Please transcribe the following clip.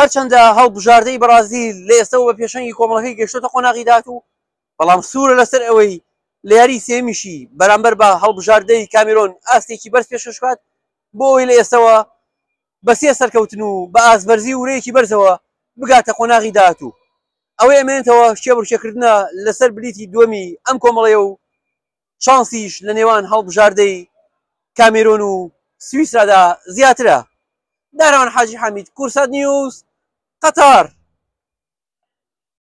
هەرچەندە هەڵبژاردەی بەڕازیل لە ئێستەوە بە پێشەنگی کۆمەڵەکەی گەیشتۆتە قۆناغی داهاتوو، بەڵام سوورە لەسەر ئەوەی لە یاری سێیەمیشی بەرامبەر بە هەڵبژاردەی کامیرۆن ئاستێکی بەرز پێشکەش بکات بۆ ئەوەی لە ئێستەوە بە سێ سەرکەوتن و بە ئاستبەرزی و ورەیەکی بەرزەوە بگاتە قۆناغی داهاتوو. ئەوەی ئەمێنێتەوە کێبڕکێکردنە لەسەر بلیتی دووەمی ئەم کۆمەڵەیە و چانسیش لە نێوان هەڵبژاردەی کامێرۆن و سویسرادا زیاترە. داراوان حاجی حەمید، کوردسات نیوز، قەتەر.